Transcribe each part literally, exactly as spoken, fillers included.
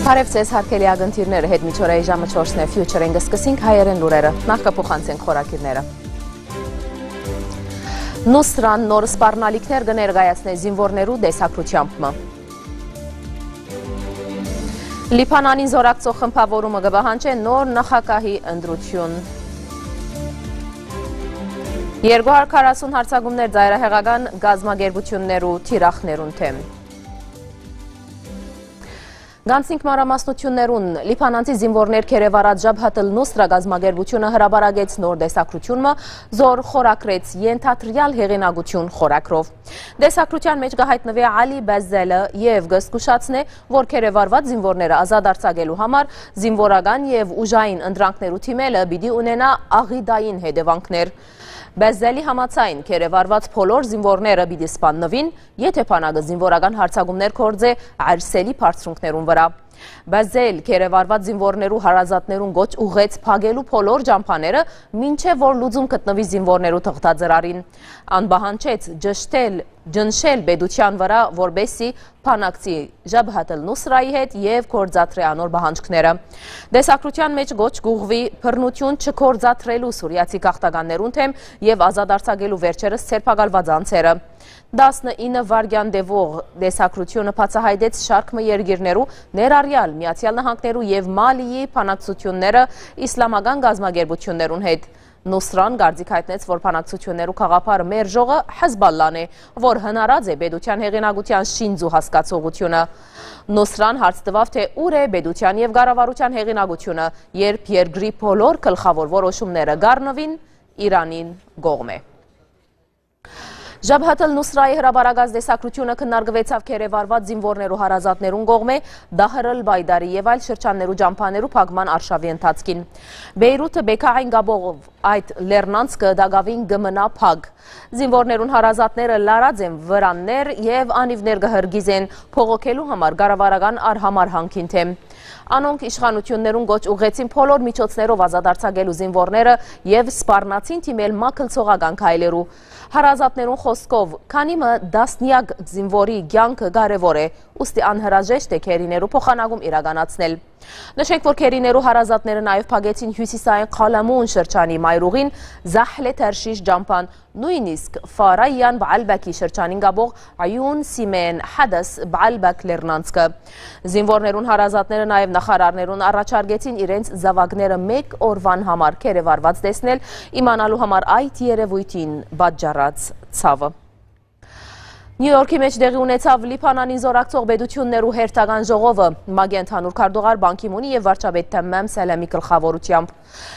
Բարեւ ձեզ, հարգելի ակնթիռները, հետ միջօրեի ժամը չորսն է, Future-ին կսկսենք հայերեն լուրերը, նախ կը փոխանցենք խորագիրները։ Նուսրան նոր սպառնալիքներ կը ներկայացնէ զինուորներու տեսակցութեամբ մը։ Լիբանանին զօրակցող խմբաւորումը կը պահանջէ նոր նախագահի ընտրութիւն։ Երկու հարիւր քառասուն հարձակումներ ծայրահեղական կազմակերպութիւններու թիրախներուն դէմ։ Գանցինք մանրամասնութիւններուն։ Լիբանանցի զինուորներ գերեվարած Ժաբհաթ ալ Նուսրա կազմակերպութիւնը հրապարակեց նոր տեսակցութիւն մը, զոր խորագրեց Ենթադրեալ հեղինակութիւն խորագրով։ Տեսակցութեան մէջ կը յայտնուի Ալի Բեզելը եւ կը զգուշացնէ, որ գերեվարուած զինուորները ազատ արձակելու համար զինուորական եւ ուժային ընտրանքներու դիմելը պիտի ունենայ աղիտային հետեւանքներ։ Բեզելի համաձայն, գերեվարուած բոլոր զինուորները պիտի սպաննուին, եթէ բանակը զինուորական հարձակումներ գործէ Արսելի բարձրունքներուն վրայ։ Բեզել գերեվարուած զինուորներու հարազատներուն կոչ ուղղեց փակելու բոլոր ճամբաները, մինչեւ որ լուծում գտնուի զինուորներու թղթածրարին։ Ան պահանջեց ճշտել, ճնշել պետութեան վրայ, որպէսզի բանակցի Ժաբհաթ ալ Նուսրայի հետ եւ գործադրէ անոր պահանջները։ Տեսակցութեան մէջ կոչ կ'ուղղուի բռնութիւն չգործադրելու սուրիացի գաղթականներուն դէմ եւ ազատ արձակելու վերջերս ձերբակալուած անձերը։ Տասնինը վայրկեան տեւող տեսակցութիւնը բացայայտեց շարք մը երկիրներու, ներառեալ Միացեալ Նահանգներու եւ Մալիի բանակցութիւնները իսլամական կազմակերպութիւններուն հետ։ Նուսրան կարծիք յայտնեց, որ բանակցութիւններու գաղափարը մերժողը Հեզբալլան է, որ հնարած է պետութեան հեղինակութեան շինծու հասկացողութիւնը։ Նուսրան հարց տուաւ, թէ ո՞ւր է պետութեան եւ կառավարութեան հեղինակութիւնը, երբ երկրի բոլոր գլխաւոր որոշումները կ'առնուին Իրանին կողմէ։ Ժաբհաթ ալ Նուսրայի հրապարակած տեսակցութիւնը քննարկուեցաւ գերեվարուած զինուորներու հարազատներուն կողմէ Դահր ալ Պայդարի եւ այլ շրջաններու ճամբաներու փակման արշաւի ընթացքին։ Բեյրութը Բեքային կապող այդ լեռնանցքը տակաւին կը մնայ փակ։ Զինուորներուն հարազատները լարած են վրաններ եւ անիւներ կը հրկիզեն՝ բողոքելու համար կառավարական արհամարհանքին դէմ։ Անոնք իշխանութիւններուն կոչ ուղղեցին բոլոր միջոցներով ազատ արձակելու զինուորները եւ սպառնացին դիմել մագլցողական քայլերու։ Հարազատներուն խօսքով, քանի մը տասնեակ զինուորի կեանքը կարեւոր է, ուստի անհրաժեշտ է գերիներու փոխանակում իրականացնել։ Նշենք, որ գերիներու հարազատները նաեւ փակեցին հիւսիսային Խալամուն շրջանի մայրուղին Զահլե Թերշիշ ճամբան, նոյնիսկ Ֆարայյան Բալբեքի շրջանին կապող Այուն Սիմեն Հադաս Բալբեք լեռնանցքը։ Զինուորներուն հարազատները նաեւ նախարարներուն առաջարկեցին իրենց զաւակները մէկ օրուան համար գերեվարուած տեսնել, իմանալու համար այդ երեւոյթին պատճառած ցաւը։ Նիու Յորքի մէջ տեղի ունեցաւ Լիբանանին զօրակցող պետութիւններու հերթական ժողովը։ ՄԱԿ-ի ընդհանուր քարտուղար Պան Գի Մունի եւ վարչապետ Թեմմեմ Սելեմի գլխաւորութեամբ։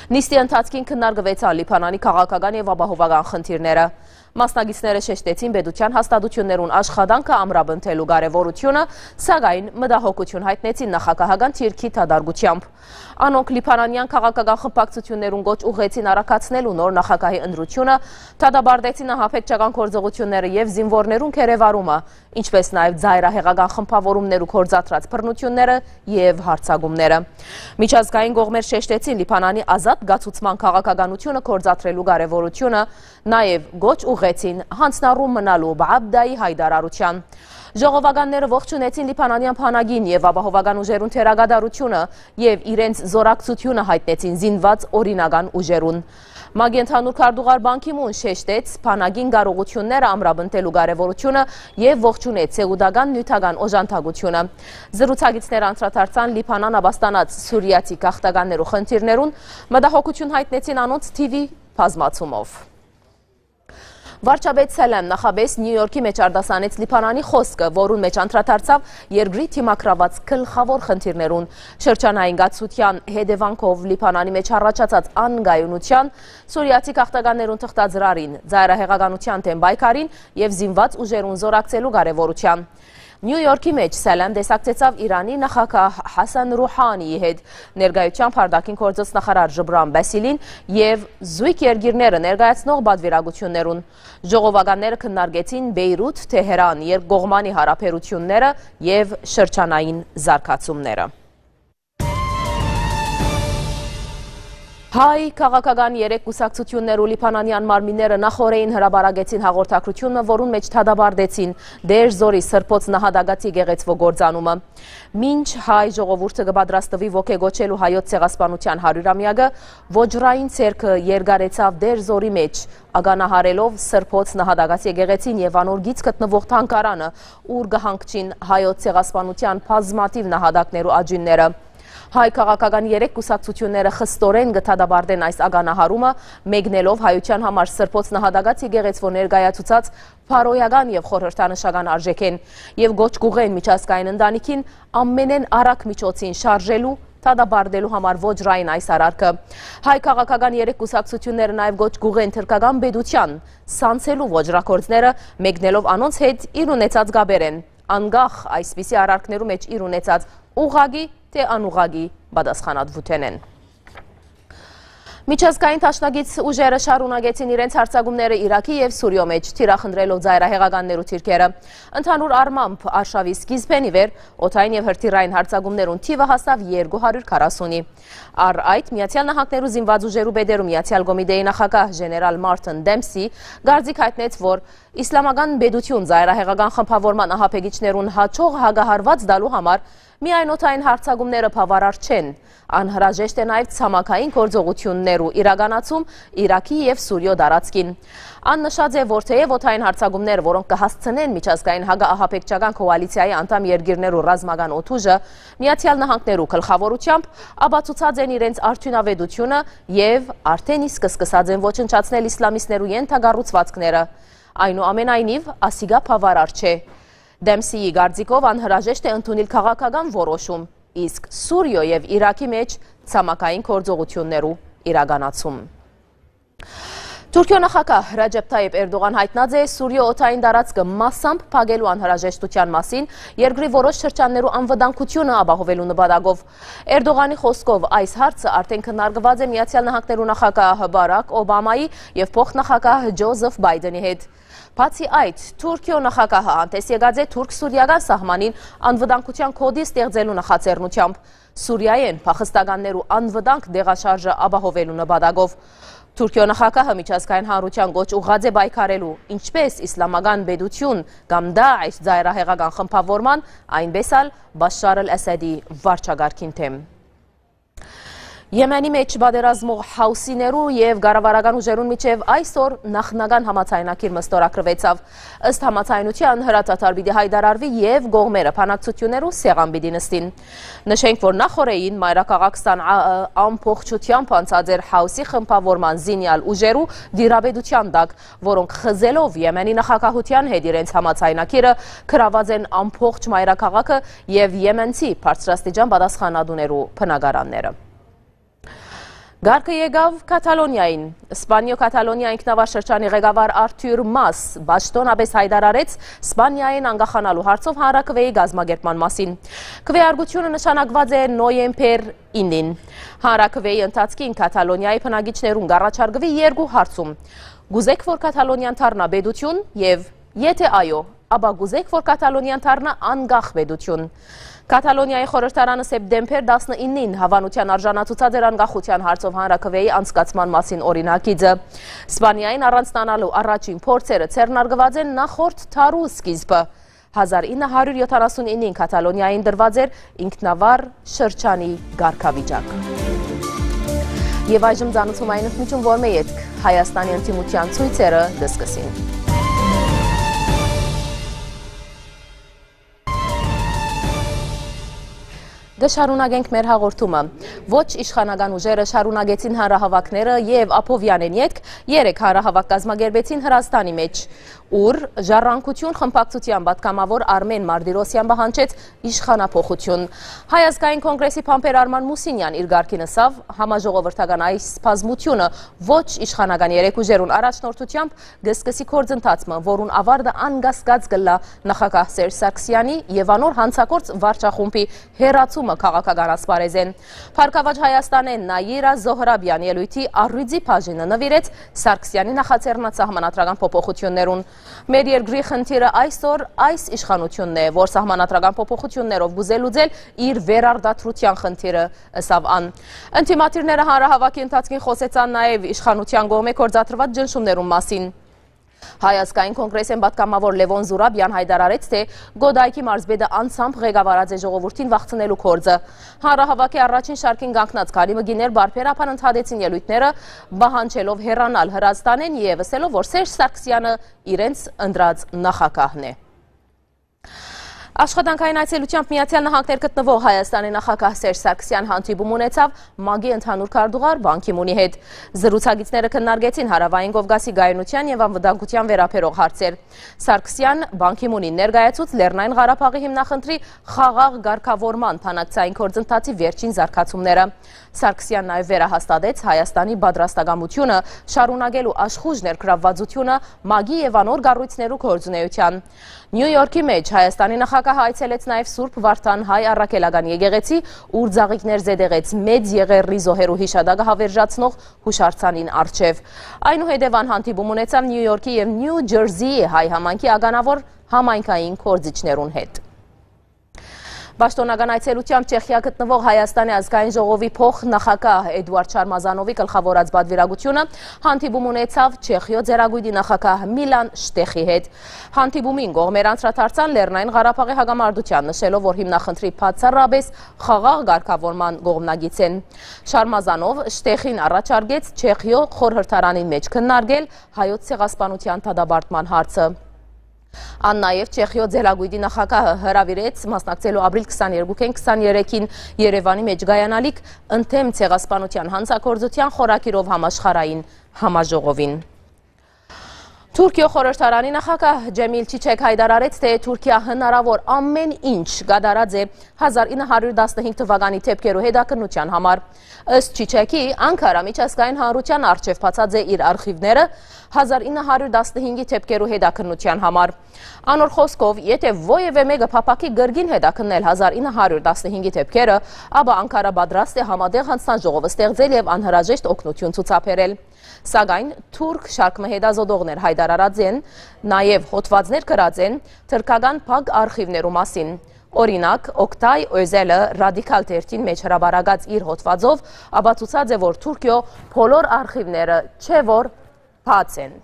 Նիստի ընթացքին քննարկուեցան Լիբանանի քաղաքական եւ ապահովական խնդիրները։ Մասնակիցները շեշտեցին պետութեան հաստատութիւններուն աշխատանքը ամրապնդելու կարեւորութիւնը, սակայն մտահոգութիւն յայտնեցին նախագահական դիրքի դատարկութեամբ։ Անոնք լիբանանեան քաղաքական խմբակցութիւններուն կոչ ուղղեցին առկայացնելու նոր նախագահի ընտրութիւնը, դատապարտեցին ահաբեկչական գործողութիւնները եւ զինուորներուն գերեվարումը, ինչպէս նաեւ ծայրահեղական խմբաւորումներու գործադրած բռնութիւնները եւ հարձակումները։ Միջազգային կողմեր շեշտեցին Լիբանանի ազատ կացուցման քաղաքականութիւնը գործադրելու կարեւորութիւնը, նաեւ կոչ ուղղեցին յանձնառու մնալու Բաբդայի յայտարարութեան։ Ժողովականները ողջունեցին լիբանանեան բանակին եւ ապահովական ուժերուն դերակատարութիւնը եւ իրենց զօրակցութիւնը յայտնեցին զինուած օրինական ուժերուն։ ՄԱԿ-ի ընդհանուր քարտուղար Պան Գի Մուն շեշտեց բանակին կարողութիւնները ամրապնդելու կարեւորութիւնը եւ ողջունեց սեուտական նիւթական օժանդակութիւնը։ Զրուցակիցները անդրադարձան Լիբանան ապաստանած սուրիացի գաղթականներու խնդիրներուն, մտահոգութիւն յայտնեցին անոնց թիւի բազմացումով։ Վարչապետ Սելեմ նախապէս Նիու Յորքի մէջ արտասանեց Լիբանանի խօսքը, որուն մէջ անդրադարձաւ երկրի դիմագրաւած գլխաւոր խնդիրներուն, շրջանային կացութեան հետեւանքով Լիբանանի մէջ առաջացած անկայունութեան, սուրիացի գաղթականներուն թղթածրարին, ծայրահեղականութեան դէմ պայքարին եւ զինուած ուժերուն զօրակցելու կարեւորութեան։ Նիու Յորքի մէջ Սելեմ տեսակցեցաւ Իրանի նախագահ Հասան Ռուհանիի հետ, ներկայությամբ արտաքին գործոց նախարար Ժբրան Բասիլին եւ զոյգ երկիրները ներկայացնող պատվիրակութիւններուն։ Ժողովականները քննարկեցին Բեյրութ-Թեհրան երկկողմանի յարաբերութիւնները եւ շրջանային զարգացումները։ Հայ քաղաքական երեք կուսակցութիւններ ու լիբանանեան մարմինները նախօրէին հրապարակեցին հաղորդագրութիւնը, որուն մէջ դատապարտեցին Դեր Զորի Սրբոց նահատակաց եկեղեցւոյ կործանումը։ Մինչ հայ ժողովուրդը կը պատրաստուի ոգեկոչելու հայոց ցեղասպանութեան հարիւրամեակը, ոճռային ցերկը երկարեցաւ Դեր Զորի մէջ, ականահարելով Սրբոց նահատակաց եկեղեցին եւ անոր գից գտնուող թանգարանը, ուր կը հանգչին հայոց ցեղասպանութեան բազմաթիւ նահատակներու աճիւնները։ Հայ քաղաքական երեք կուսակցութիւնները խստորեն կը դատապարտեն այս ականահարումը, մեկնելով հայութեան համար Սրբոց նահատակաց եկեղեցւոյ ներկայացուցած բարոյական եւ խորհրդանշական արժէքէն, եւ կոչ կուղղեն միջազգային ընտանիքին ամենէն արագ միջոցին շարժելու, դատապարտելու համար ոճռային այս արարքը։ Հայ քաղաքական երեք կուսակցութիւնները նաեւ կոչ կուղղեն թրքական պետութեան սանձելու ոճրագործները, մեկնելով անոնց հետ իր ունեցած կապերէն, անկախ այսպիսի արարքներու մէջ իր ունեցած ուղղակի թէ անուղղակի պատասխանատուութենէն։ Միջազգային դաշնակից ուժերը շարունակեցին իրենց յարձակումները Իրաքի եւ Սուրիոյ մէջ, թիրախնդրելով ծայրահեղականներու թիրքերը։ Ընդհանուր առմամբ, արշաւի սկիզբէն ի վեր, օդային եւ հրթիռային յարձակումներուն թիւը հասաւ երկու հարիւր քառասունի։ Առ այդ, Միացեալ Նահանգներու զինուած ուժերու պետերու Միացեալ կոմիտեի նախագահ ժեներալ Մարտին Դեմսի կարծիք յայտնեց, որ Իսլամական պետութիւն ծայրահեղական խմբաւորման ահաբեկիչներուն հաջող հակահարուած տալու համար միայն օդային յարձակումները բաւարար չեն, անհրաժեշտ է նաեւ ցամաքային գործողութիւններու իրականացում Իրաքի եւ Սուրիոյ տարածքին։ Ան նշած է, որ թէեւ օդային յարձակումները, որոնք կը հասցնեն միջազգային հակաահաբեկչական քոալիցիայի անդամ երկիրներու ռազմական օդուժը Միացեալ Նահանգներու գլխաւորութեամբ, ապացուցած են իրենց արդիւնաւետութիւնը եւ արդէն իսկ սկսած են ոչնչացնել իսլամիստներու ենթակառուցուածքները։ Այնուամենայնիւ, ասիկա բաւարար չէ։ Դեմսիի կարծիքով անհրաժեշտ է ընդունիլ քաղաքական որոշում, իսկ Սուրիոյ եւ Իրաքի մէջ ցամաքային գործողութիւններու իրականացում։ Թուրքիոյ նախագահ Ռաջեփ Թայիփ Էրդողան յայտնած է Սուրիոյ օդային տարածքը մասամբ փակելու անհրաժեշտութեան մասին երկրի որոշ շրջաններու անվտանգութիւնը ապահովելու նպատակով։ Էրդողանի խօսքով, այս հարցը արդէն քննարկուած է Միացեալ Նահանգներու նախագահ Բարաք Օբամայի եւ փոխնախագահ Ջոզեֆ Բայդենի հետ։ Բացի այդ, Թուրքիոյ նախագահը հանդէս եկած է թուրք-սուրիական սահմանին անվտանգութեան գօտի ստեղծելու նախաձեռնութեամբ, Սուրիայէն փախստականներու անվտանգ տեղաշարժը ապահովելու նպատակով։ Թուրքիոյ նախագահը միջազգային հանրութեան կոչ ուղղած է պայքարելու ինչպէս Իսլամական պետութիւն կամ Դաիշ ծայրահեղական խմբաւորման, այնպէս ալ Բաշար ալ Ասադի վարչակարգին դէմ։ Եմենի մէջ պատերազմող Հաուսիներու եւ կառավարական ուժերուն միջեւ այսօր նախնական համաձայնագիր մստորագրուեցաւ։ Ըստ համաձայնութեան, հրադադար պիտի յայտարարուի եւ կողմերը բանակցութիւններու սեղան պիտի նստին։ Նշենք, որ նախօրէին մայրաքաղաք Սանաը ամբողջութեամբ անցած էր Հաուսի խմբաւորման զինեալ ուժերու տիրապետութեան տակ, որոնք խզելով Եմենի նախագահութեան հետ իրենց համաձայնագիրը, գրաւած են ամբողջ մայրաքաղաքը եւ եմենցի բարձրաստիճան պատասխանատուներու բնակարանները։ Կարգը եկաւ Կաթալոնիային։ Սպանիոյ Կաթալոնիա ինքնավար շրջանի ղեկավար Արթուր Մաս պաշտօնապէս յայտարարեց Սպանիայէն անկախանալու հարցով հանրաքուէի կազմակերպման մասին։ Քուէարկութիւնը նշանակուած է նոյեմբեր իննին։ Հանրաքուէի ընթացքին Կաթալոնիայի բնակիչներուն կառաջարկուի երկու հարցում։ Կուզե՞ք, որ Կաթալոնիան դառնայ պետութիւն, եւ եթէ այո, ապա կուզե՞ք, որ Կաթալոնիան դառնայ անկախ պետութիւն։ Կաթալոնիայի խորհրդարանը սեպտեմբեր տասնիննին հաւանութեան արժանացուցած էր անկախութեան հարցով հանրաքուէի անցկացման մասին օրինագիծը։ Սպանիային առանձնանալու առաջին փորձերը ձեռնարկուած են նախորդ դարու սկիզբը։ Հազար ինը հարիւր յոթանասունիննին Կաթալոնիային տրուած էր ինքնավար շրջանի կարգավիճակ։ Եւ այժմ ծանոթում այն ընդմիջում, որ մէ ետք Հայաստանի ընդդիմութեան ցոյցերը կսկսին։ Կը շարունակենք մեր հաղորդումը։ Ոչ իշխանական ուժերը շարունակեցին հանրահաւաքները եւ Աբովեանէն ետք երեք հանրահաւաք կազմակերպեցին Հրազդանի մէջ, ուր Ժառանգություն խմբակցութեան պատգամաւոր Արմէն Մարտիրոսեան պահանջեց իշխանափոխութիւն։ Հայ ազգային կոնգրեսի բանբեր Արման Մուսինեան իր կարգին ըսաւ համաժողովրդական այս բազմութիւնը ոչ իշխանական երեք ուժերուն առաջնորդութեամբ կը սկսի գործընթացը, որուն աւարտը անկասկած կ'ըլլայ նախագահ Սերժ Սարգսեանի եւ անոր յանցագործ վարչախումբի հեռացումը քաղաքական ասպարէզէն։ Փառքաւաճ Հայաստանէն Նայիրա Զոհրաբեան ելոյթի առիւծի բաժինը նուիրեց Սարգսեանի նախաձեռնած սահմանադրական փոփոխութիւններուն։ Մեր երկրի խնդիրը այսօր այս իշխանությունն է, որ սահմանադրական փոփոխություններով կ'ուզէ լուծել իր վերարտադրութեան խնդիրը, ըսաւ ան։ Ընդդիմադիրները հանրահաւաքի ընթացքին խօսեցան նաեւ իշխանութեան կողմէ գործադրուած ճնշումներուն մասին։ Հայ ազգային կոնգրեսէն պատգամաւոր Լեւոն Զուրաբեան յայտարարեց, թէ Գոդայքի մարզպետը անձամբ ղեկավարած է ժողովուրդին վախցնելու գործը։ Հանրահաւաքի առաջին շարքին կանգնած քանի մը կիներ բարբերաբար ընդհատեցին ելոյթները, պահանջելով հեռանալ Հրազդանէն եւ ըսելով, որ Սերժ Սարգսեանը իրենց ընտրած նախագահն է։ Աշխատանքային այցելութեամբ Միացեալ Նահանգներ գտնուող Հայաստանի նախագահ Սերժ Սարգսեան հանդիպում ունեցաւ ՄԱԿ-ի ընդհանուր քարտուղար Պան Գի Մունի հետ։ Զրուցակիցները քննարկեցին Հարաւային Կովկասի կայունութեան եւ անվտանգութեան վերաբերող հարցեր։ Սարգսեան Պան Գի Մունին ներկայացուց Լեռնային Ղարաբաղի հիմնախնդրի խաղաղ կարգաւորման բանակցային գործընթացի վերջին զարգացումները։ Սարգսեան նաեւ վերահաստատեց Հայաստանի պատրաստակամությունը շարունակելու աշխուժ ներգրավվածությունը ՄԱԿ-ի եւ անոր կառոյցներու գործունեութեան։ Նիու Յորքի մէջ Հայաստանի նախագահը այցելեց նաեւ Սուրբ Վարդան հայ առաքելական եկեղեցի, ուր ծաղիկներ զետեղեց Մեծ Եղեռնի զոհերու հիշատակը հավերժացնող յուշարձանին առջեւ։ Այնուհետեւ ան հանդիպում ունեցաւ Նիու Յորքի եւ Նիու Ջերզիի հայ համայնքի ականաւոր համայնքային գործիչներուն հետ։ Պաշտօնական այցելութեամբ Չեխիա գտնուող Հայաստանի ազգային ժողովի փոխ նախագահ Էդուարդ Շարմազանովի գլխաւորած պատվիրակությունը հանդիպում ունեցաւ Չեխիոյ ծերակոյտի նախագահ Միլան Շտեխի հետ։ Հանդիպումին կողմեր անդրադարձան Լեռնային Ղարաբաղի հակամարտութեան, նշելով, որ հիմնախնդրի բացառապես խաղաղ կարգաւորման կողմնակից են։ Շարմազանով Շտեխին առաջարկեց Չեխիոյ խորհրդարանին մէջ քննարկել հայոց ցեղասպանութեան դատապարտման հարցը։ Ան նաեւ Չեխիոյ ծերակոյտի նախագահը հրաւիրեց մասնակցելու ապրիլ քսաներկուքէն քսաներեքին Երեւանի մէջ կայանալիք ընդդեմ ցեղասպանութեան յանցագործութեան խորագիրով համաշխարհային համաժողովին։ Թուրքիոյ խորհրդարանի նախագահ Ջեմիլ Չիչեկ յայտարարեց, թէ Թուրքիա հնարաւոր ամէն ինչ կատարած է հազար ինը հարիւր տասնհինգ թուականի դէպքերու հետաքննութեան համար։ Ըստ Չիչեքի, Անկարա միջազգային հանրութեան առջեւ բացած է իր արխիւները հազար ինը հարիւր տասնհինգի դէպքերու հետաքննութեան համար։ Անոր խօսքով, եթէ որեւէ մէկը փափաքի կրկին հետաքննել հազար ինը հարիւր տասնհինգի դէպքերը, ապա Անկարա պատրաստ է համատեղ յանձնաժողով ստեղծել եւ անհրաժեշտ օգնութիւն ցուցաբերել։ Սակայն թուրք շարք մը հետազոտողներ յայտարարած են նաեւ հոդվածներ գրած են թրքական փակ արխիւներու մասին։ Օրինակ, Օկտայ Օզելը Ռադիկալ թերթին մէջ հրապարակած իր հոդվածով ապացուցած է, որ Թուրքիոյ բոլոր արխիւները չէ որ բաց են։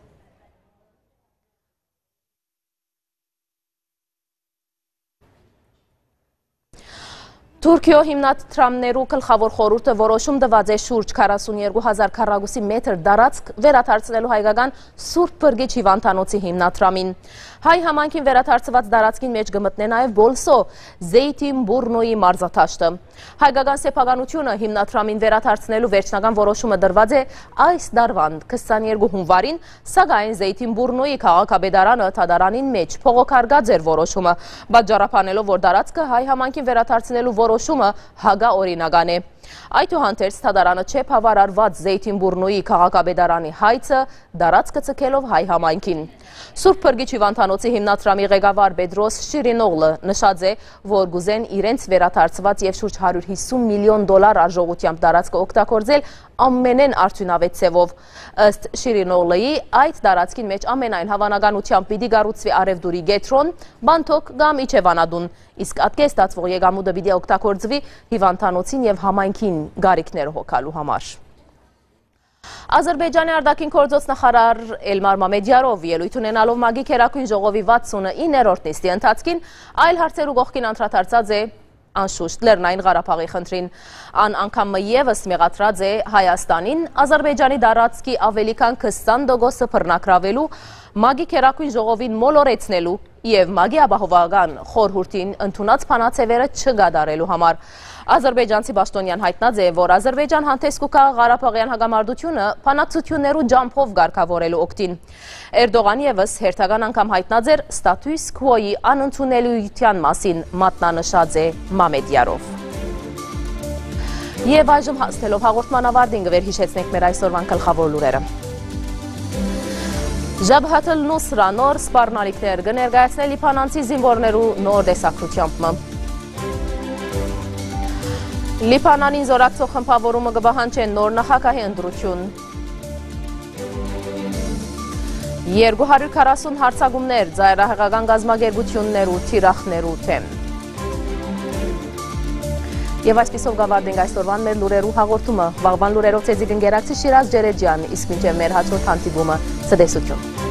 Թուրքիոյ հիմնադրամներու գլխաւոր խորհուրդը որոշում տուած է շուրջ քառասուն երկու հազար քառակուսի մետր տարածք վերադարձնելու հայկական Սուրբ Փրկիչ հիւանդանոցի հիմնադրամին։ Հայ համայնքին վերադարձուած տարածքին մէջ կը մտնէ նաեւ Բոլսոյ Զէյթինբուրնոյի մարզադաշտը։ Հայկական սեփականությունը հիմնադրամին վերադարձնելու վերջնական որոշումը տրուած է այս տարուան քսաներկու հունուարին, սակայն Զէյթինբուրնոյի քաղաքապետարանը դատարանին մէջ բողոքարկած էր որոշումը, պատճառաբանելով, որ տարածքը հայ համայնքին վերադարձնելու որոշումը հակաօրինական է։ Այդուհանդերձ, դատարանը չէ բաւարարուած Զէյթինբուրնոյի քաղաքապետարանի հայցը՝ տարածքը ձգելով հայ համայնքին։ Սուրբ Փրկիչ հիւանդանոցի հիմնադրամի ղեկավար Պետրոս Շիրինօղլը նշած է, որ կ'ուզեն իրենց վերադարձուած եւ շուրջ հարիւր հիսուն միլիոն դոլար արժողութեամբ տարածքը օգտագործել ամենէն արդիւնաւէտ ձեւով։ Ըստ Շիրինօղլիի, այդ տարածքին մէջ ամենայն հաւանականութեամբ պիտի կառուցուի առեւտուրի կեդրոն, Բանթոկ կամ Իջեւանատուն, իսկ ատկէ ստացուող եկամուտը պիտի օգտագործուի հիւանդանոցին եւ համայնքին կարիքները հոգալու համար։ Ադրբեջանի արտաքին գործոց նախարար Էլմար Մամեդյարով ելոյթ ունենալով ՄԱԿ-ի գերագույն ժողովի վաթսունիններորդ նիստի ընթացքին, այլ հարցերու կողքին անդրադարձած է անշուշտ Լեռնային Ղարաբաղի խնդրին։ Ան անգամ մը եւս մեղադրած է Հայաստանին Ադրբեջանի տարածքի ավելի քան քսան տոկոսը բռնագրաւելու, ՄԱԿ-ի գերագույն ժողովին մոլորեցնելու եւ ՄԱԿ-ի ապահովական խորհուրդին ընդունած բանաձեւերը չկատարելու համար։ Ադրբեջանցի պաշտօնեան յայտնած է, որ Ադրբեջան հանդէս կու գայ ղարաբաղեան հակամարտությունը բանակցութիւններու ճամբով կարգաւորելու օգտին։ Էրտողան եւս հերթական անգամ յայտնած էր ստատուս քուոյի անընդունելիութեան մասին, մատնանշած է Մամեդյարով։ Եւ այժմ, հասնելով հաղորդման ավարտին, կը վերհիշեցնենք մեր այսօրուան գլխաւոր լուրերը։ Ժաբհաթ ալ Նուսրա նոր սպառնալիքներ կը ներկայացնէ լիբանանցի զինուորներու նոր տեսագրութեամբ մը։ Լիբանանին զօրակցող խմբաւորումը կը պահանջէ նոր նախագահի ընտրութիւն։ Երկու հարիւր քառասուն յարձակումներ ծայրահեղական կազմակերպութիւններու թիրախներու դէմ։ Եւ այսպիսով կ'աւարտենք այսօրուան մեր լուրերու հաղորդումը։ Վաղուան լուրերով ձեզի կ'ընկերակցի Շիրազ Ջերեջեան, իսկ մինչեւ մեր յաջորդ հանդիպումը, ցտեսութիւն։